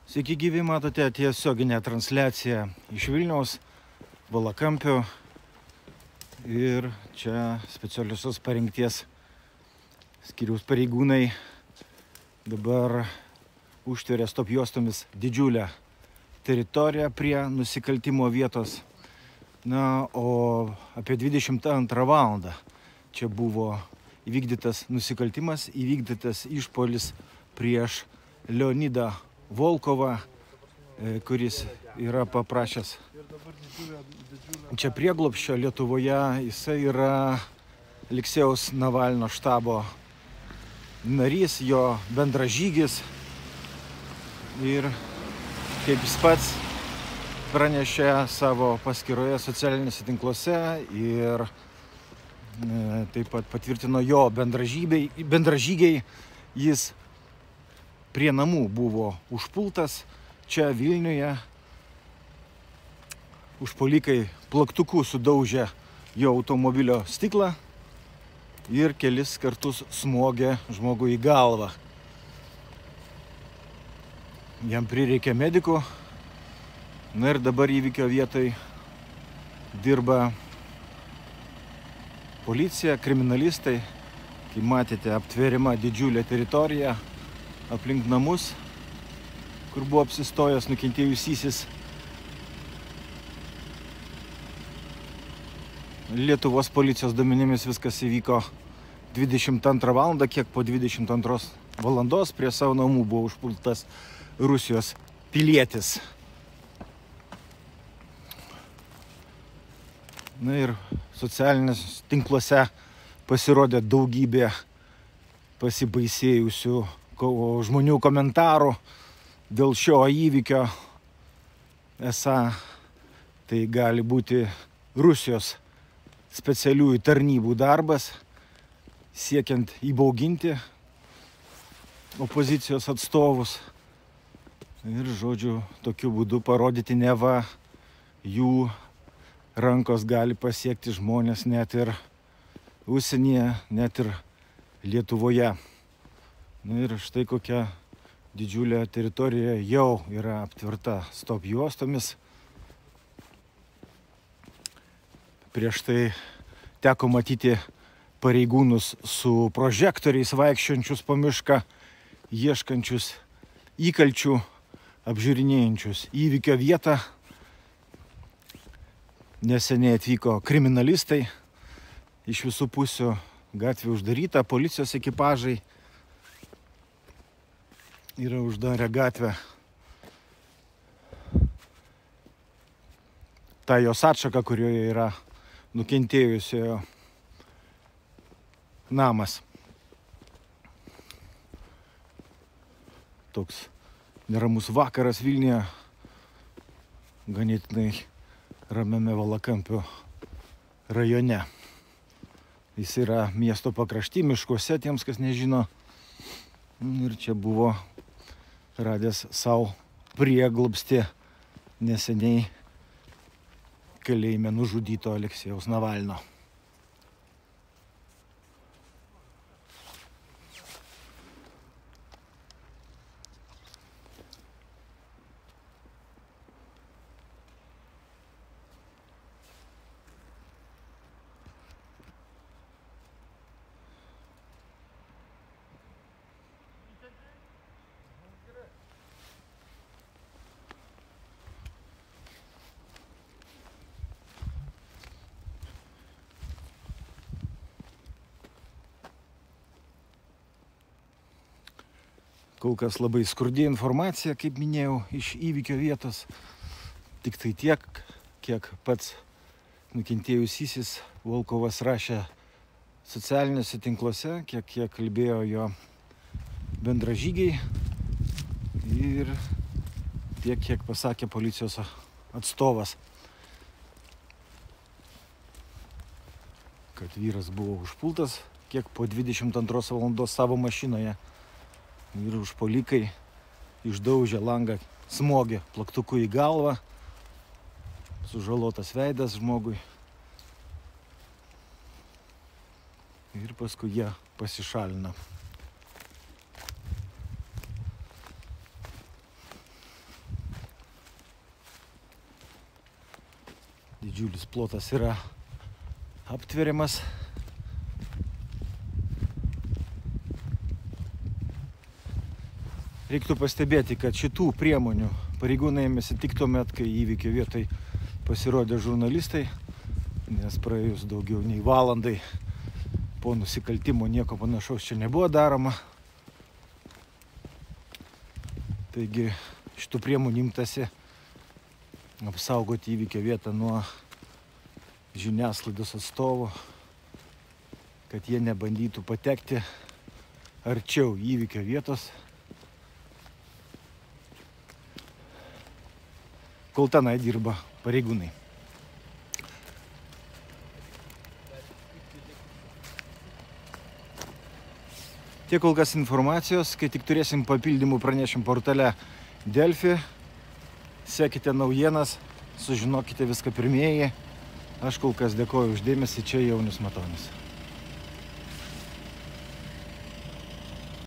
Sveiki gyvi, matote tiesioginę transliaciją iš Vilniaus, Valakampių ir čia specialiosios parengties skyriaus pareigūnai dabar užtveria stop juostomis didžiulę teritoriją prie nusikaltimo vietos. Na, o apie 22 valandą čia buvo įvykdytas nusikaltimas, įvykdytas išpuolis prieš Leonidą Volkovą, kuris yra paprašęs čia prieglobsčio Lietuvoje. Jisai yra Aleksejaus Navalno štabo narys, jo bendražygis. Ir kaip jis pats pranešė savo paskyroje socialiniuose tinkluose ir taip pat patvirtino jo bendražygiai, jis prie namų buvo užpultas čia Vilniuje. Užpuolikai plaktuku sudaužė jo automobilio stiklą ir kelis kartus smogė žmogui į galvą. Jam prireikė medikų. Na ir dabar įvykio vietoj dirba policija, kriminalistai. Kaip matėte, aptveriama didžiulė teritorija aplink namus, kur buvo apsistojęs nukentėjusysis. Lietuvos policijos duomenimis viskas įvyko 22 valandą, kiek po 22 valandos prie savo namų buvo užpultas Rusijos pilietis. Na ir socialiniuose tinkluose pasirodė daugybė pasibaisėjusių žmonių komentarų dėl šio įvykio. Esą tai gali būti Rusijos specialiųjų tarnybų darbas, siekiant įbauginti opozicijos atstovus. Ir, žodžiu, tokiu būdu parodyti, neva jų rankos gali pasiekti žmonės net ir užsienyje, net ir Lietuvoje. Na ir štai kokia didžiulė teritorija jau yra aptverta stop juostomis. Prieš tai teko matyti pareigūnus su prožektoriais vaikščiojančius po mišką, ieškančius įkalčių, apžiūrinėjančius įvykio vietą. Neseniai atvyko kriminalistai iš visų pusių, gatvė uždaryta, policijos ekipažai yra uždarę gatvę. Ta jos atšaka, kurioje yra nukentėjusiojo namas. Toks neramus vakaras Vilniuje, ganėtinai ramiame Valakampių rajone. Jis yra miesto pakrašty, miškuose, tiems, kas nežino. Ir čia buvo radęs savo prieglobstį neseniai kalėjime nužudyto Aleksejaus Navalno. Kol kas labai skurdi informacija, kaip minėjau, iš įvykio vietos. Tik tai tiek, kiek pats nukentėjusysis Volkovas rašė socialiniuose tinkluose, kiek kalbėjo jo bendražygiai ir tiek, kiek pasakė policijos atstovas. Kad vyras buvo užpultas kiek po 22 valandos savo mašinoje. Ir užpuolikai išdaužė langą, smogė plaktuku į galvą, sužalotas veidas žmogui. Ir paskui jie pasišalino. Didžiulis plotas yra aptveriamas. Reiktų pastebėti, kad šitų priemonių pareigūnai ėmėsi tik tuomet, kai įvykio vietai pasirodė žurnalistai, nes praėjus daugiau nei valandai po nusikaltimo nieko panašaus čia nebuvo daroma. Taigi šitų priemonių imtasi apsaugoti įvykio vietą nuo žiniasklaidos atstovų, kad jie nebandytų patekti arčiau įvykio vietos, kol tenai dirba pareigūnai. Tiek kol kas informacijos, kai tik turėsim papildymų pranešim portale Delfi. Sekite naujienas, sužinokite viską pirmieji. Aš kol kas dėkoju už dėmesį, čia Jaunius Matonis.